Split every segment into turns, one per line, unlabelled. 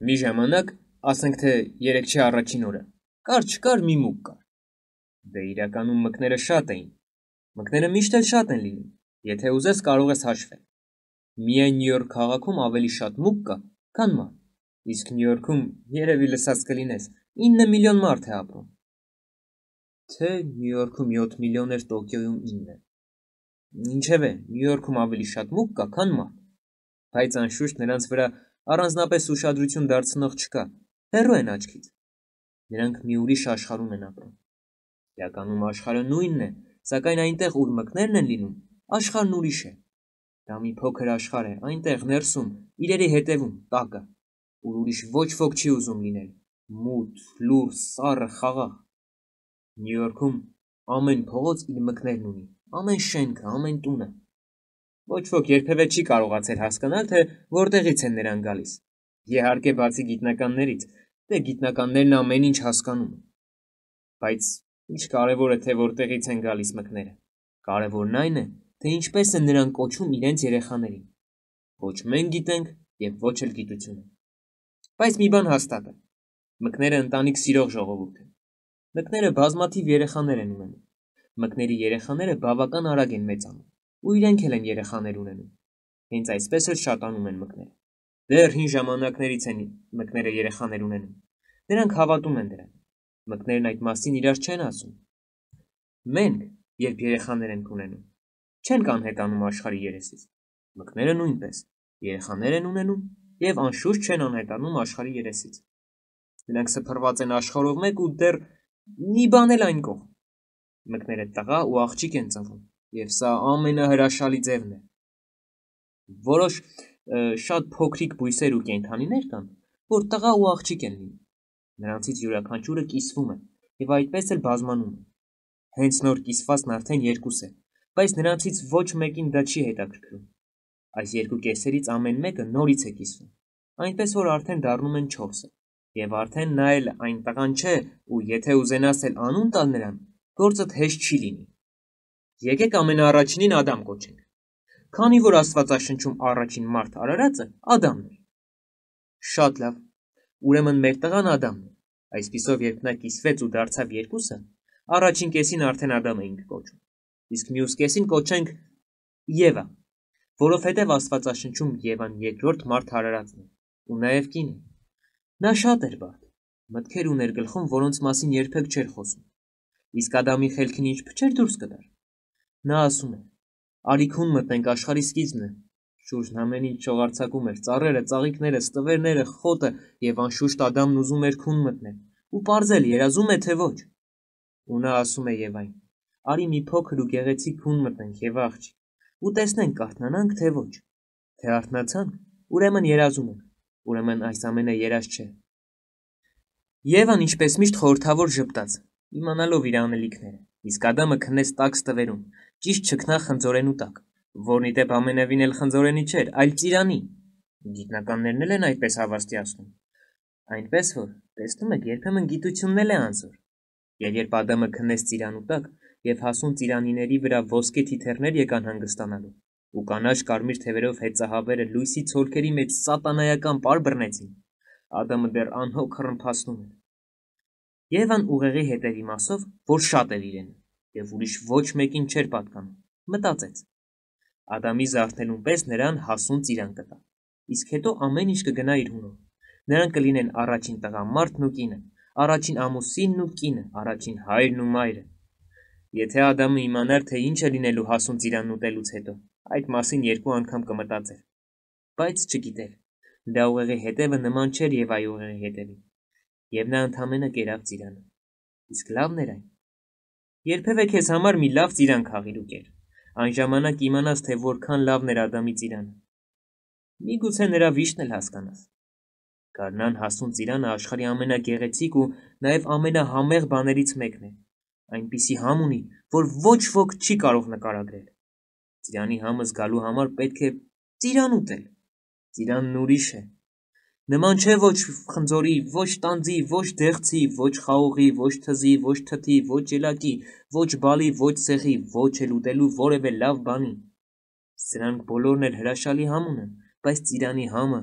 Մի ժամանակ, ասենք թե 3-ի առաջին օրը, կար-չկար մի մուկ կար։ Դե իրականում մկները շատ էին։ Մկները միշտ էլ շատ են լինում, եթե ուզես կարող ես հաշվել։ Միայն Նյու Յորք քաղաքում ավելի շատ մուկ կա, քան մարդ, իսկ Նյու Յորքում երևի լսած կլինես 9 միլիոն մարդ է ապրում։ Թե Նյու Յորքում 7 միլիոն էր, Տոկիոյում 9։ Ինչևէ, Նյու Յորքում ավելի շատ մուկ կա, քան մարդ, բայց անշուշտ նրանց վրա առանձնապես ուշադրություն դարձնող չկա, հեռու են աչքից։ Նրանք մի ուրիշ աշխարհում են ապրում։ Իրականում աշխարհը նույնն է, սակայն այնտեղ, ուր մկներն են լինում, աշխարհն ուրիշ է։ Դա մի փոքր աշխարհ է, այնտեղ ներսում, իրերի հետևում, տակը, ուր ուրիշ ոչ ոք չի ուզում լինել, մութ, լուռ, սառը, խաղաղ։ Նյու Յորքում ամեն փողոց իր մկներն ունի, ամեն շենքը, ամեն տունը։ Ոչ ոք երբևէ չի կարողացել հասկանալ, թե որտեղից են նրանք գալիս։ Իհարկե, բացի գիտնականներից, դե գիտնականներն ամեն ինչ հասկանում են։ Բայց ինչ կարևոր է, թե որտեղից են գալիս մկները։ Կարևորն այն է, թե ինչպես են նրանք կոչում իրենց երեխաներին։ Ոչ մենք գիտենք եւ ոչ էլ գիտությունը։ Բայց մի բան հաստատ է։ Մկները ընտանիք սիրող ժողովուրդ են։ Մկները բազմաթիվ երեխաներ են ունենում։ Մկների երեխաները բավական արագ են մեծանում, ու իրենք էլ են երեխաներ ունենում։ Հենց այսպես էլ շատանում են մկները։ Դեռ հին ժամանակներից են մկները երեխաներ ունենում։ Նրանք հավատում են դրան։ Մկներն այդ մասին իրար չեն ասում։ Մենք, երբ երեխաներ ենք ունենում, չենք անհետանում աշխարհի երեսից։ Մկները նույնպես երեխաներ են ունենում եւ անշուշտ չեն անհետանում աշխարհի երեսից։ Նրանք սփռված են աշխարհով մեկ ու դեռ մի բան էլ այն կողմ։ Մկները տղա ու աղջիկ են ծնվում, եւ սա ամենահրաշալի ձևն է։ Որոշ շատ փոքրիկ բույսեր ու կենդանիներ կան, որ տղա ու աղջիկ են լինում։ Նրանցից յուրաքանչյուրը կիսվում է եւ այդպես էլ բազմանում է։ Հենց նոր կիսվածն արդեն 2 է, բայց նրանցից ոչ մեկին դա չի հետաքրքրում։ Այս երկու կեսերից ամեն մեկը նորից է կիսվում, այնպես որ արդեն դառնում են 4-ը, եւ արդեն նա էլ այն տղան չէ, ու եթե ուզենաս էլ անուն տալ նրան, գործդ հեշտ չի լինի։ Եկեք ամենաառաջինին Ադամ կոչենք։ Քանի որ Աստվածաշնչում առաջին մարդ արարածը Ադամն էր։ Շատ լավ։ Ուրեմն մեր տղան Ադամն է։ Այսպիսով, երբ նա կիսվեց ու դարձավ 2-ը, առաջին կեսին արդեն Ադամ էինք կոչում։ Իսկ մյուս կեսին կոչենք Եվա, որովհետև Աստվածաշնչում Եվան երկրորդ մարդ արարածն է, ու նաև կին է։ Նա շատ էր բարդ, մտքեր ուներ գլխում, որոնց մասին երբեք չէր խոսում։ Իսկ Ադամի խելքին ինչ փչեր դուրս կտար։ Նա ասում էր. «Արի քուն մտնենք, աշխարհի սկիզբն է»։ Շուրջն ամեն ինչ շողարցակում էր, ծառերը, ծաղիկները, ստվերները, խոտը, եւ անշուշտ Ադամն ուզում էր քուն մտնել, ու պարզել երազում է թե ոչ։ Ու նա ասում է Եվային. «Արի մի փոքր ու գեղեցիկ քուն մտնենք, Եվա աղջիկ, ու տեսնենք կարթնանանք թե ոչ։ Թե արթնացանք, ուրեմն երազում ենք, ուրեմն այս ամենը երազ չէ»։ Եվան ինչպես միշտ խորհրդավոր ժպտաց, իմանալով իր անելիքները, իսկ Ադամը քնեց տաք ստվերում, ճիշտ չքնախնձորենու տակ, որն ի դեպ ամենևին էլ խնձորենի չէր, այլ ծիրանի։ Գիտնականներն էլ են այդպես հավաստիացնում։ Այնպես որ, տեսնում եք, երբեմն գիտությունն էլ է անզոր։ Եվ երբ Ադամը քնեց ծիրանու տակ, եւ հասուն ծիրանիների վրա ոսկե թիթեռներ եկան հանգստանալու, ու կանաչ կարմիր թևերով հեծահավերը լույսի ցոլքերի մեջ սատանայական պար բռնեցին, Ադամը դեռ անհոգ հռնփացնում էր։ Եվան ուղեղի հետևի մասով, որ շատ էր իրեն, եւ ուրիշ ոչ մեկին չէր պատկանում, մտածեց. Ադամի զարթնելուն պես նրան հասուն ծիրան կտա, իսկ հետո ամեն ինչ կգնա իր հունով։ Նրանք կլինեն առաջին տղամարդն ու կինը, առաջին ամուսինն ու կինը, առաջին հայրն ու մայրը։ Եթե Ադամը իմանար, թե ինչ է լինելու հասուն ծիրանն ուտելուց հետո, այդ մասին 2 անգամ կմտածեր։ Բայց չգիտեր, դա ուղեղի հետևը նման չէր Եվայի ուղեղի հետևին, եւ նա ընդամենը կերավ ծիրանը։ Իսկ լավն էր այն։ Երբևէ քեզ համար մի լավ ծիրան քաղիր ու կեր, այն ժամանակ իմանաս, թե որքան լավն էր Ադամի ծիրանը։ Միգուցե նրա վիշտն էլ հասկանաս։ Գարնան հասուն ծիրանը աշխարհի ամենագեղեցիկ ու նաև ամենահամեղ բաներից մեկն է։ Այնպիսի համ ունի, որ ոչ ոք չի կարող նկարագրել։ Ծիրանի համը զգալու համար պետք է ծիրան ուտել։ Ծիրանն ուրիշ է։ Նման չէ ոչ խնձորի, ոչ տանձի, ոչ դեղցի, ոչ խաղողի, ոչ թզի, ոչ թթի, ոչ ելակի, ոչ բալի, ոչ ցեղի, ոչ էլ ուտելու որևէ լավ բանի։ Սրանք բոլորն էլ հրաշալի համ ունեն, բայց ծիրանի համը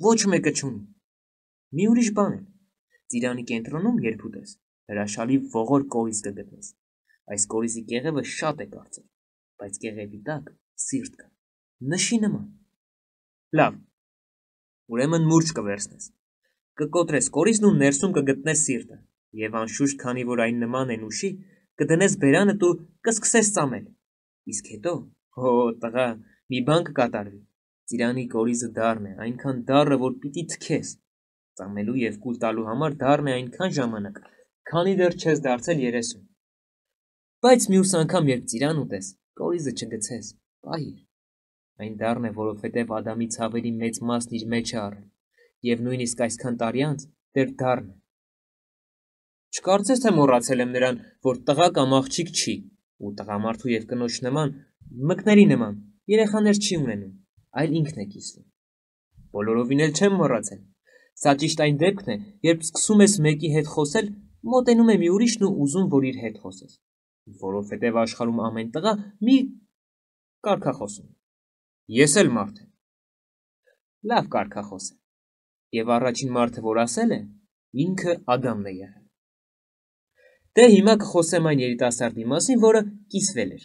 ոչ մեկը չունի։ մի ուրիշ բան է։ Ծիրանի կենտրոնում երբ ուտես, հրաշալի ողոր կորիզ կգտնես։ Այս կորիզի կեղևը շատ է կարծր, բայց կեղևի տակ սիրտ կա, նշի նման։ Լավ, ուրեմն մուրճ կվերցնես, կկոտրես կորիզն ու ներսում կգտնես սիրտը, եւ անշուշտ, քանի որ այն նման է նուշի, կդնես բերանդ ու կսկսես ծամել։ Իսկ հետո, հո տղա, մի բան կկատարվի։ Ծիրանի կորիզը դառն է, այնքան դառը, որ պիտի թքես։ Ծամելու եւ կուլ տալու համար դառն է այնքան ժամանակ, քանի դեռ չես դարձել 30։ Բայց մյուս անգամ, երբ ծիրան ուտես, կորիզը չգցես, պահիր։ Այն դառն է, որովհետև Ադամի ցավերի մեծ մասն իր մեջ է առել, եւ նույնիսկ այսքան տարի անց դեռ դառն է։ Չկարծես թե մոռացել եմ նրան, որ տղա կամ աղջիկ չի, ու տղամարդու եւ կնոջ նման, մկների նման, երեխաներ չի ունենում, այլ ինքն է կիսվում։ Բոլորովին էլ չեմ մոռացել։ Սա ճիշտ այն դեպքն է, երբ սկսում ես մեկի հետ խոսել, մոտենում է մի ուրիշն ու ուզում, որ իր հետ խոսես, որովհետև աշխարհում ամեն տղա մի կարգախոսում։ Ես էլ մարդ եմ։ Լավ կարգախոս է։ Եվ առաջին մարդը, որ ասել է, ինքը Ադամն է եղել։ Դե հիմա կխոսեմ այն երիտասարդի մասին, որը կիսվել էր։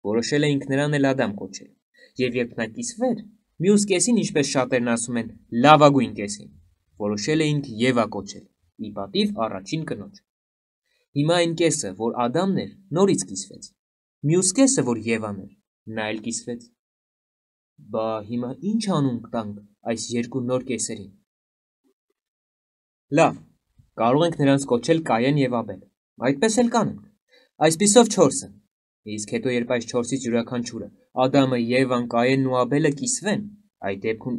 Որոշել էինք նրան էլ Ադամ կոչել։ Եվ երբ նա կիսվեր, մյուս կեսին, ինչպես շատերն ասում են, լավագույն կեսին, որոշել էինք Եվա կոչել, ի պատիվ առաջին կնոջ։ Հիմա այն կեսը, որ Ադամն էր, նորից կիսվեց։ Մյուս կեսը, որ Եվան էր, նա էլ կիսվեց։ Բա հիմա ինչ անուն տանք այս երկու նոր կեսերին։ Լավ, կարող ենք նրանց կոչել Կայեն եւ Աբել։ Այդպես էլ կանենք։ Այսպիսով 4-ը։ Իսկ հետո երբ այս 4-ից յուրաքանչյուրը Ադամը, Եվան, Կայենն ու Աբելը կիսվեն, այդ դեպքում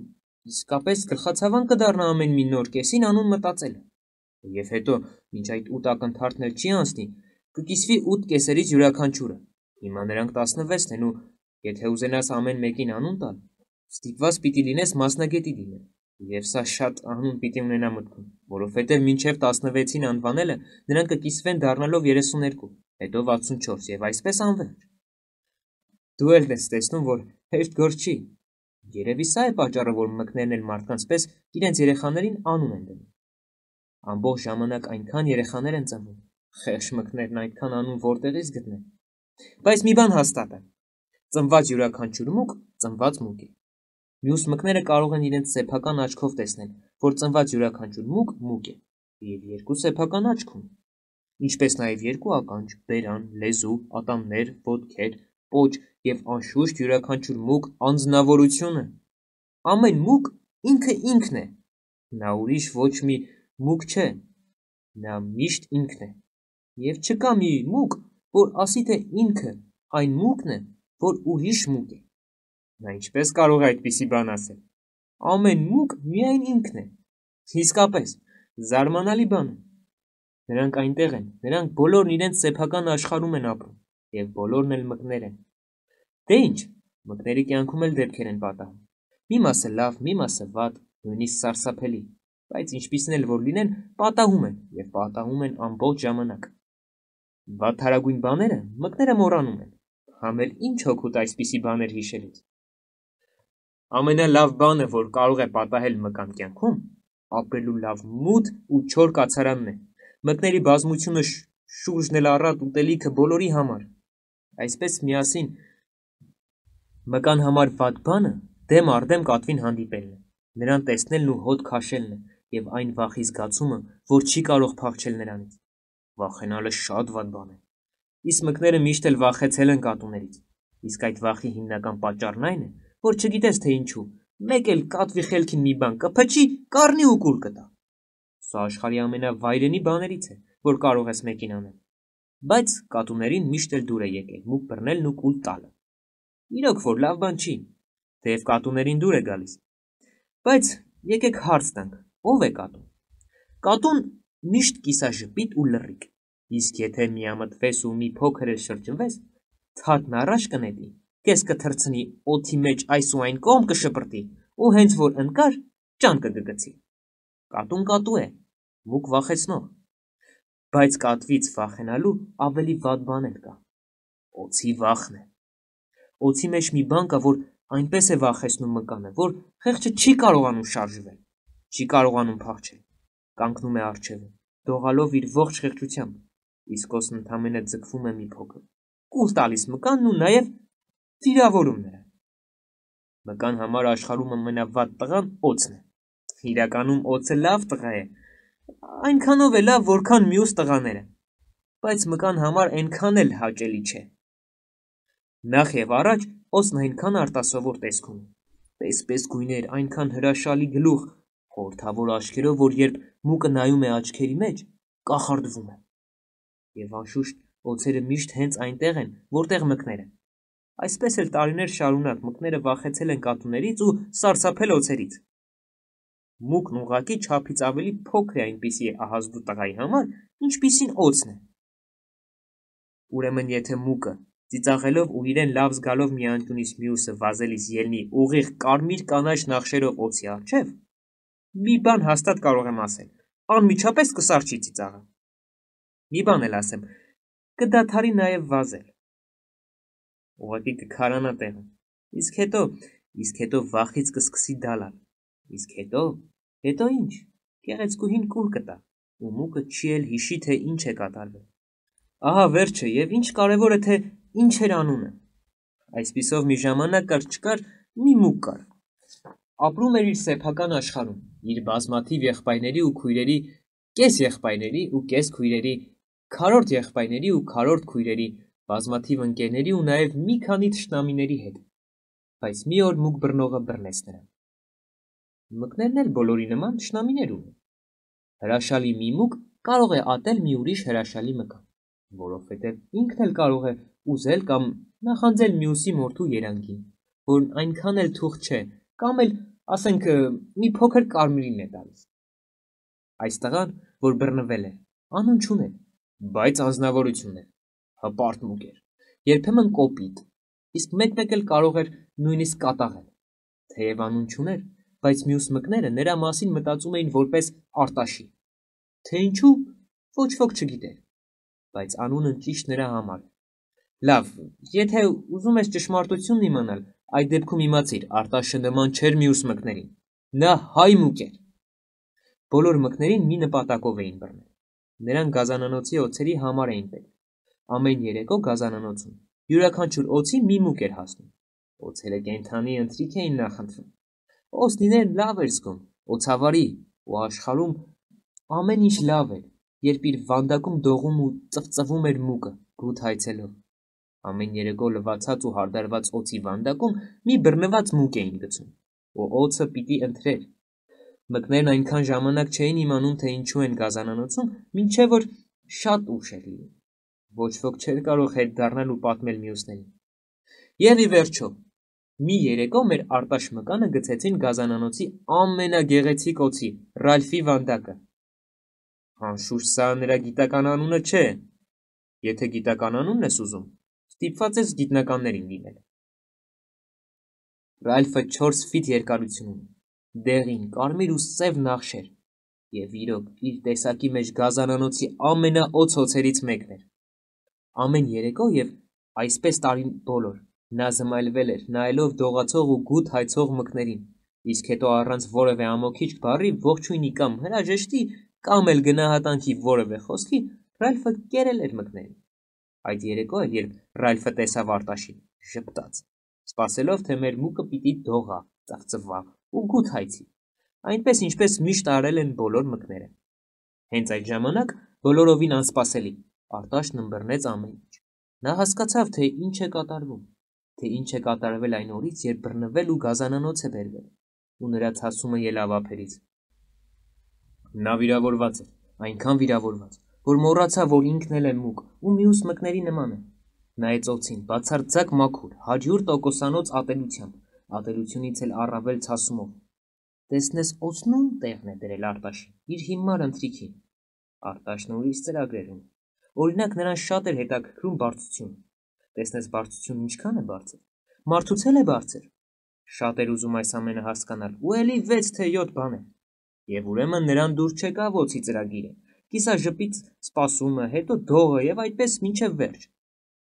իսկապես գլխացավան կդառնա ամեն մի նոր կեսին անուն մտածելը։ Եվ հետո, մինչ այդ 8 ակնթարթն էլ չի անցնի, կկիսվի 8 կեսերից յուրաքանչյուրը։ Հիմա նրանք 16 են ու եթե ուզենաս ամեն մեկին անուն տալ, ստիպված պիտի լինես մասնագետի դիմել։ Եվ սա շատ անուն պիտի ունենա մտքում, որովհետև մինչև 16-ին անվանելը նրանք կկիսվեն դառնալով 32, հետո 64 եւ այսպես անվերջ։ Դու էլ ես տեսնում, որ հեշտ գործ չի։ Երևի սա է պատճառը, որ մկներն էլ մարդկանց պես իրենց երեխաներին անուն են դնում։ Ամբողջ ժամանակ այնքան երեխաներ են ծնվում, խեղճ մկներն այդքան անուն որտեղից գտնեն։ Բայց մի բան հաստատ է. ծնված յուրաքանչյուր մուկ ծնված մուկ է։ Մյուս մկները կարող են իրենց սեփական աչքով տեսնել, որ ծնված յուրաքանչյուր մուկ մուկ է, եւ երկու սեփական աչք ունի, ինչպես նաեւ երկու ականջ, բերան, լեզու, ատամներ, ոտքեր, պոչ եւ անշուշտ յուրաքանչյուր մուկ անձնավորությունը։ Ամեն մուկ ինքն է։ Նա ուրիշ ոչ մի մուկ չէ, նա միշտ ինքն է։ Եվ չկա մի մուկ, որ ասի թե ինքը այն մուկն է, որ ուրիշ մուկ է։ Նա ինչպես կարող է այդպիսի բան ասել։ Ամեն մուկ միայն ինքն է։ Իսկապես, զարմանալի բան է։ Նրանք այնտեղ են, նրանք բոլորն իրենց սեփական աշխարհում են ապրում, եւ բոլորն էլ մկներ են։ Դե ինչ, մկների կյանքում էլ դեպքեր են պատահում։ Մի մասը լավ, մի մասը վատ, նույնիսկ սարսափելի, բայց ինչպիսին էլ որ լինեն, պատահում են եւ պատահում են ամբողջ ժամանակ։ Վատթարագույն բաները մկները մոռանում են, համ էլ ինչ հոգուտ այսպիսի բաներ հիշելուց։ Ամենալավ բանը, որ կարող է պատահել մկան կյանքում, ապրելու լավ մութ ու չոր կացարանն է։ Մկների բազմությունը շուրջն էլ առատ ուտելիքը բոլորի համար։ Այսպես միասին մկան համար վատ բանը դեմ առ դեմ կատվին հանդիպելն է, նրան տեսնելն ու հոտ քաշելն է եւ այն վախի զգացումը, որ չի կարող փախչել նրանից։ Վախենալը շատ վատ բան է։ Իսկ մկները միշտ էլ վախեցել են կատուներից։ Իսկ այդ վախի հիմնական պատճառն այն է, որ չգիտես թե ինչու, մեկ էլ կատվի խելքին մի բան կփչի, կառնի ու կուլ կտա։ Սա աշխարհի ամենավայրենի բաներից է, որ կարող ես մեկին անել։ Բայց կատուներին միշտ էլ դուր է եկել մուկ բռնելն ու կուլ տալը։ Իրոք որ լավ բան չի, թեև կատուներին դուր է գալիս։ Բայց եկեք հարց տանք, ով է կատուն։ Կատուն միշտ կիսաժպիտ ու լռիկ, իսկ եթե միամտվես ու մի փոքր էլ շրջվես, թաթն առաջ կնետի, կես կթռցնի օդի մեջ այս ու այն կողմ կշպրտի ու հենց որ ընկար, ճան կգգցի։ Կատուն կատու է, մուկ վախեցնող։ Բայց կատվից վախենալու ավելի վատ բան էլ կա։ Օձի վախն է։ Օձի մեջ մի բան կա, որ այնպես է վախեցնում մկանը, որ խեղճը չի կարողանում շարժվել, չի կարողանում փախչել։ կանգնում է առջևը, դողալով իր ողջ խեղճությամբ, իսկ օձն ընդամենը ձգվում է մի փոքր, կուլ տալիս մկանն ու նաև վիրավորում նրան։ Մկան համար աշխարհում ամենավատ տղան օձն է։ Իրականում օձը լավ տղա է, այնքանով է լավ, որքան մյուս տղաները, բայց մկան համար այնքան էլ հաճելի չէ։ Նախ եւ առաջ օձն այնքան արտասովոր տեսք ունի, պես գույներ, այնքան հրաշալի գլուխ, խորհրդավոր աչքերով, որ երբ մուկը նայում է աչքերի մեջ, կախարդվում է։ Եվ անշուշտ օձերը միշտ հենց այնտեղ են, որտեղ մկները։ Այսպես էլ տարիներ շարունակ մկները վախեցել են կատուներից ու սարսափել օձերից։ Մուկն ուղղակի չափից ավելի փոքր է այնպիսի ահազդու տղայի համար, ինչպիսին օձն է։ Ուրեմն եթե մուկը ծիծաղելով ու իրեն լավ զգալով մի անկյունից մյուսը վազելիս ելնի ուղիղ կարմիր կանաչ նախշերով օձի առջև, մի բան հաստատ կարող եմ ասել, անմիջապես կսառչի ծիծաղը։ Մի բան էլ ասեմ, կդադարի նաև վազել։ Ուղղակի կքարանա տեղը։ Իսկ հետո վախից կսկսի դալալ։ Իսկ հետո ինչ։ Գեղեցկուհին կուլ կտա, ու մուկը չի էլ հիշի, թե ինչ է կատարվել։ Ահա վերջը, եւ ինչ կարևոր է, թե ինչ էր անունը։ Այսպիսով մի ժամանակ կար մի մուկ կար։ Ապրում էր իր սեփական աշխարհում, իր բազմաթիվ եղբայրների ու քույրերի, կես եղբայրների ու կես քույրերի, քառորդ եղբայրների ու քառորդ քույրերի, բազմաթիվ ընկերների ու նաև մի քանի թշնամիների հետ, բայց մի օր մուկ բռնողը բռնեց նրան։ Մկներն էլ բոլորի նման թշնամիներ ունեն։ Հրաշալի մի մուկ կարող է ատել մի ուրիշ հրաշալի մկան, որովհետև ինքն էլ կարող է ուզել կամ նախանձել մյուսի մորթու երանգին, որն այնքան էլ թուղթ չէ, կամ էլ, ասենք, մի փոքր կարմիրին է տալիս։ Այս տղան, որ բռնվել է, անուն չուներ, բայց անձնավորություն էր, հպարտ մուկ էր, երբեմն կոպիտ, իսկ մեկ-մեկ էլ կարող էր նույնիսկ կատաղել, թեև անուն չուներ, բայց մյուս մկները նրա մասին մտածում էին որպես Արտաշի, թե ինչու ոչ ոք չգիտեր, բայց անունը ճիշտ նրա համար է։ Լավ, եթե ուզում ես ճշմարտությունն իմանալ, այդ դեպքում իմացիր, Արտաշը նման չէր մյուս մկներին, նա հայ մուկ էր։ Բոլոր մկներին մի նպատակով էին բռնել, նրան գազանանոցի օձերի համար էին պետք։ Ամեն երեկո գազանանոցում յուրաքանչյուր օձի մի մուկ էր հասնում։ Օձերը կենդանի ընթրիք էին նախընտրում։ Օձ լինել լավ էր զգում, օձավարի, ու աշխարհում ամեն ինչ լավ էր, երբ իր վանդակում դողում ու ծվծվում էր մուկը, գութ հայցելով։ Ամեն երեկո լվացած ու հարդարված օձի վանդակում մի բռնված մուկ էին գցում, ու օձը պիտի ընթրեր։ Մկներն այնքան ժամանակ չէին իմանում, թե ինչու են գազանանոցում, մինչև որ շատ ուշ էր լինում։ Ոչ ոք չէր կարող հետ դառնալ ու պատմել մյուսներին։ Եվ ի վերջո, մի երեկո մեր Արտաշ մկանը գցեցին գազանանոցի ամենագեղեցիկ օձի, Ռալֆի վանդակը։ Անշուշտ սա նրա գիտական անունը չէ։ Եթե գիտական անունն ես ուզում, ստիպված ես գիտնականներին դիմել։ Ռալֆը 4 ֆիտ երկարություն ունի, դեղին, կարմիր ու սև նախշեր, եւ իրոք իր տեսակի մեջ գազանանոցի ամենաօծ օձերից մեկն էր։ Ամեն երեկո եւ այսպես տարին բոլոր նա զմայլվել էր, նայելով դողացող ու գութ հայցող մկներին, իսկ հետո առանց որևէ ամոքիչ բառի ողջույնի կամ հրաժեշտի կամ էլ գնահատանքի որևէ խոսքի Ռալֆը կերել էր մկներին։ Այդ երեկո էլ, երբ Ռալֆը տեսավ Արտաշին, ժպտաց, սպասելով, թե մեր մուկը պիտի դողա, ծվծվա ու գութ հայցի, այնպես ինչպես միշտ արել են բոլոր մկները։ Հենց այդ ժամանակ բոլորովին անսպասելի Արտաշն ըմբռնեց ամեն ինչ։ Նա հասկացավ, թե ինչ է կատարվում, թե ինչ է կատարվել այն օրից, երբ բռնվել ու գազանանոց է բերվել, ու նրա ցասումը ելավ ափերից։ Նա վիրավորված էր, այնքան վիրավորված, որ մոռացավ, որ ինքն էլ է մուկ ու մյուս մկների նման է։ Նայեց օձին, բացարձակ մաքուր, 100% ատելությամբ, ատելությունից էլ առավել ցասումով։ Տեսնես օձնում տեղն է դրել Արտաշին, իր հիմար ընթրիքին։ Արտաշն ուրիշ ծրագրեր ունի։ Օրինակ նրան շատ էր հետաքրքրում բարձրությունը։ Տեսնես բարձրությունն ինչքան է բարձր։ Մարդուց էլ է բարձր։ Շատ էր ուզում այս ամենը հասկանալ, ու էլի 6 թե 7 բաներ։ Եվ ուրեմն նրան դուր չեկավ օձի ծրագիրը։ Կիսաժպից սպասումը, հետո դողը եւ այդպես մինչեւ վերջ։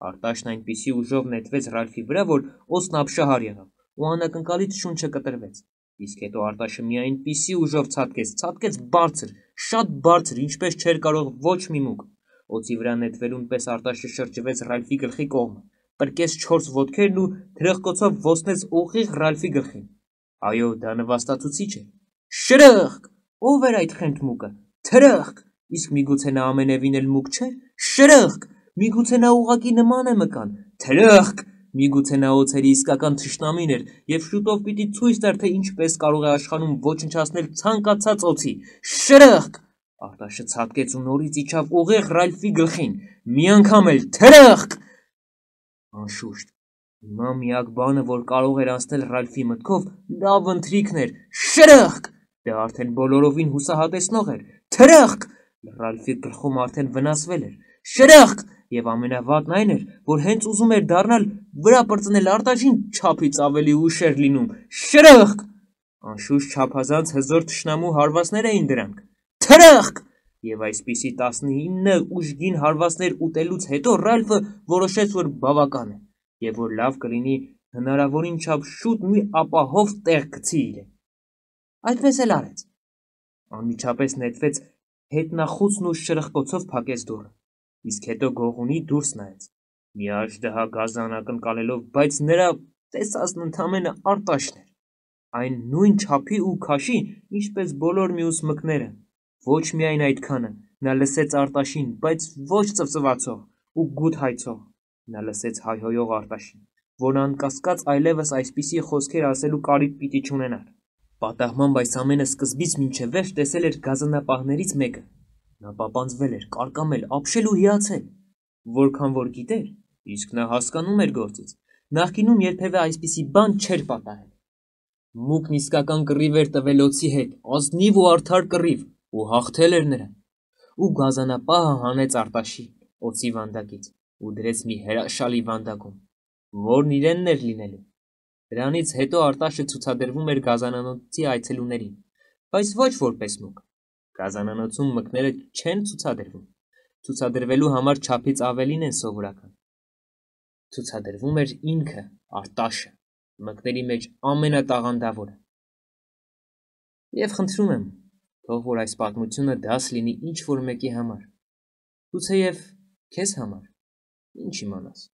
Արտաշն այնպիսի ուժով նետվեց Ռալֆի վրա, որ օձն ապշահար եղավ ու անակնկալից շունչը կտրվեց։ Իսկ հետո Արտաշը մի այնպիսի ուժով ցատկեց բարձր, շատ բարձր, ինչպես չէր կարող ոչ մի մուկ։ Օծի վրա նետվելուն պես Արտաշը շրջվեց Ռալֆի գլխի կողմը, պրկեց 4 ոտքերն ու թրխկոցով ոսնեց ուղիղ Ռալֆի գլխին։ Այո, դա նվաստացուցիչ է։ Շրըխկ! Ո՞վ էր այդ խենթ մուկը։ Թրխկ! Իսկ միգուցե նա ամենևին էլ մուկ չէ։ Շրըխկ! Միգուցե նա ուղղակի նման է մկան։ Թրխկ! Միգուցե նա օձերի իսկական թշնամին էր եւ շուտով պիտի ցույց տար, թե ինչպես կարող է աշխանում ոչնչացնել ցանկացած օձի։ Շրըխկ! Արտաշը ցատկեց ու նորից իջավ ուղիղ Ռալֆի գլխին։ Մի անգամ էլ թրխկ! Անշուշտ, հիմա միակ բանը, որ կարող էր անցնել Ռալֆի մտքով, լավ ընթրիքն էր։ Շրխկ! Դա արդեն բոլորովին հուսահատեցնող էր։ Թրխկ! Ռալֆի գլխում արդեն վնասվել էր։ Շրխկ! Եվ ամենավատն այն էր, որ հենց ուզում էր դառնալ վրա պրծնել Արտաշին չափից ավելի ուշ էր լինում։ Շրխկ! Անշուշտ չափազանց հզոր թշնամու հարվածներ էին դրանք։ Թրխկ! Եվ այսպիսի 19 ուժգին հարվածներ ուտելուց հետո Ռալֆը որոշեց, որ բավական է, եւ որ լավ կլինի հնարավորին չափ շուտ մի ապահով տեղ գցի իրեն։ Այդպես էլ արեց։ Անմիջապես նետվեց հետնախուցն ու շրխկոցով փակեց դուռը, իսկ հետո գողունի դուրս նայեց։ Մի աժդահա գազան ակնկալելով, բայց նրա տեսածն ընդամենը Արտաշն էր։ Այն նույն չափի ու քաշի, ինչպես բոլոր մյուս մկները։ Ոչ միայն այդքանը, նա լսեց Արտաշին, բայց ոչ ծվծվացող ու գութ հայցող։ Նա լսեց հայհոյող Արտաշին, որն անկասկած այլևս այսպիսի խոսքեր ասելու կարիք պիտի չունենար։ Պատահմամբ այս ամենը սկզբից մինչև վերջ տեսել էր գազանապահներից մեկը։ Նա պապանձվել էր, կարկամել, ապշել ու հիացել։ Որքան որ գիտեր, իսկ նա հասկանում էր գործից, նախկինում երբևէ այսպիսի բան չէր պատահել։ Մուկն իսկական կռիվ էր տվել օձի հետ, ազնիվ ու արդար կռիվ, ու հաղթել էր նրան։ Ու գազանապահը հանեց Արտաշին օձի վանդակից ու դրեց մի հրաշալի վանդակում, որն իրենն էր լինելու։ Դրանից հետո Արտաշը ցուցադրվում էր գազանանոցի այցելուներին, բայց ոչ որպես մուկ։ Գազանանոցում մկները չեն ցուցադրվում։ Ցուցադրվելու համար չափից ավելին են սովորական։ Ցուցադրվում էր ինքը, Արտաշը, մկների մեջ ամենատաղանդավորը։ Եվ խնդրում եմ, թող որ այս պատմությունը դաս լինի ինչ որ մեկի համար։ Գուցեև քեզ համար, ինչ իմանաս։